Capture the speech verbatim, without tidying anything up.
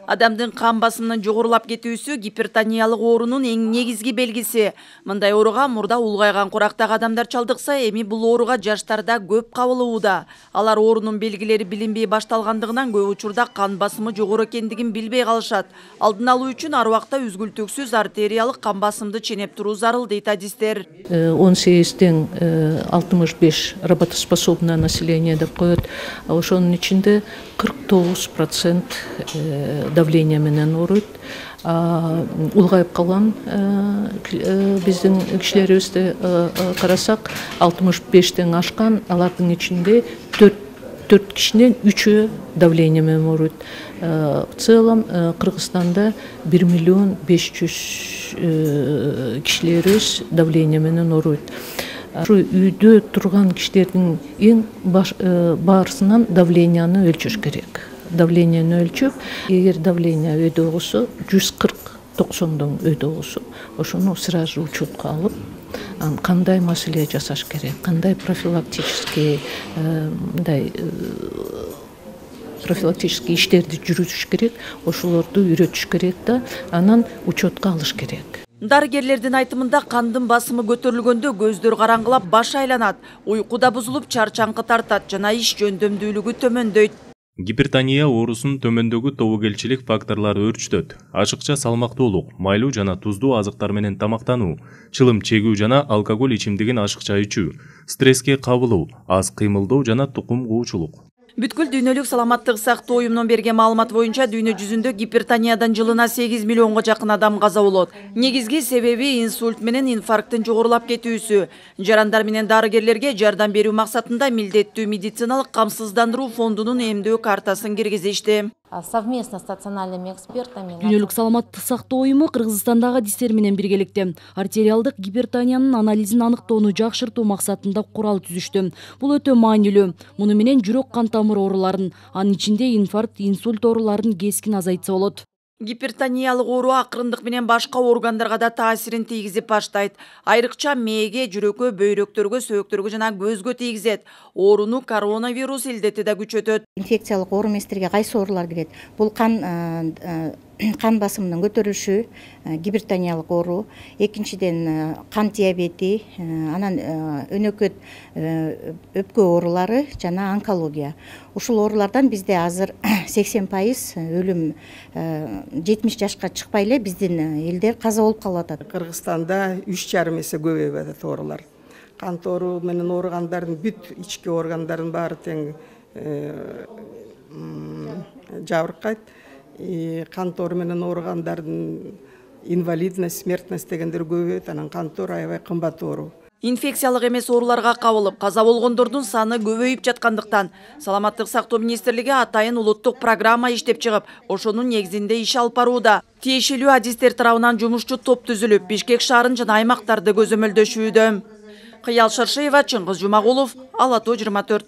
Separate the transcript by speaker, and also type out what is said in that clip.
Speaker 1: Адамдын кан басымынын жогорулап кетүүсү гипертониялык оорунун эң негизги белгиси. Мындай ооруга мурда улгайган курактагы адамдар чалдыкса, эми бул ооруга жаштарда көп кабылууда. Алар оорунун белгилери билинбей башталгандыгынан көп учурда кан басымы жогору экендигин билбей калышат. Алдын алуу үчүн ар убакта үзгүлтүксүз артериялык кан басымды ченеп туруу зарыл, дейт адистер.
Speaker 2: он сегизден алтымыш беш работоспособное население деп коет. Ошонун ичинде кырк тогуз процент давление менен ооруйт. Улгайып калган биздин кишилерибизди карасак, алтымыш бештен ашкан, алардын ичинде төрт кишинен үчөө давление менен ооруйт. В целом Кыргызстанда бир миллион беш жүз кишилерибиз давление менен ооруйт. Ушу үйдө турган кишилердин эң баарысынан давленияны өлчөш керек. Давлениени өлчөп, эгер давление өйдө болсо, жүз кырк токсондон өйдө болсо, ошону сразу учетко алып, кандай маселе жасаш керек, кандай профилактический мындай профилактический иштерди жүргүзүш керек, ошолорду үйрөтүш керек да, анан учетко алыш керек.
Speaker 1: Дарыгерлердин айтымында кандын басымы көтөрүлгөндө көздөр караңгылап, баш айланат, уйку да бузулуп, чарчаңкы тартат жана иш жөндөмдүүлүгү төмөндөйт.
Speaker 3: Гипертония оорусунун төмөндөгү тобокелчилик факторлору өрчүтөт. Ашыкча салмактуулук, майлуу жана туздуу азыктар менен тамактануу, чылым чегүү жана алкоголь ичимдигин ашыкча ичүү, стресске кабылуу, аз кыймылдоо жана тукум куучулук.
Speaker 1: Бүткүл дүйнөлүк саламаттык сактоо уюмунун берген маалымат боюнча дүйнө жүзүндө гипертониядан жылына сегиз миллионго жакын адам каза болот. Негизги себеби инсульт менен инфаркттын жогорулап кетүүсү. Жарандар менен дарыгерлерге жардам берүү максатында милдеттүү медициналык камсыздандыруу фондунун эмдөө картасын киргизишти.
Speaker 4: Совместно с национальными экспертами.
Speaker 5: Дүйнөлүк саламаттык сактоо уюму Кыргызстандагы адистер менен биргеликте артериалдык гипертониянын анализин аныктоону жакшыртуу максатында курал түзүштү. Бул өтө маанилүү. Муну менен жүрөк кан тамыр ооруларын, анын ичинде инфаркт, инсульт ооруларын кескин азайтса болот.
Speaker 1: Гипертониялык оору акырындык менен башка органдарга да таасирин тийгизип баштайт. Айрыкча мээге, жүрөккө, бөйрөктөргө, сөөктөргө жана көзгө тийгизет. Ооруну коронавирус илдети да күчөтөт.
Speaker 6: Инфекциялык оору эместерге кайсы оорулар кирет? Бул кан кан басымынын көтөрүлүшү, гипертониялык оору, экинчиден кан диабети, анан өнөкөт өпкө оорулары жана онкология. Ушул оорулардан бизде азыр сексен пайыз өлүм жетимиш жашка чыкпай эле биздин элдер каза болуп калып атат.
Speaker 7: Кыргызстанда үч жарым эсе көбөйүп атат оорулар. Кан тоору менен ооругандардын бүт ички органдарын баары тең жабыркайт. Кан тоору менен ооругандардын инвалидность, смертность дегендер көбөйөт, анан кан тоору аябай кымбат оору.
Speaker 1: Инфекциялык эмес ооруларга кабылып, каза болгондордун саны көбөйүп жаткандыктан Саламаттык сактоо министрлиги атайын улуттук программа иштеп чыгып, ошонун негизинде иш алып барууда. Тиешелүү адистер тарабынан жумушчу топ түзүлүп, Бишкек шаарын жана аймактарды көзөмөлдөшүүдө. Кыял Шаршеева, Чыңгыз Жумагулов, Ала тоо жыйырма төрт.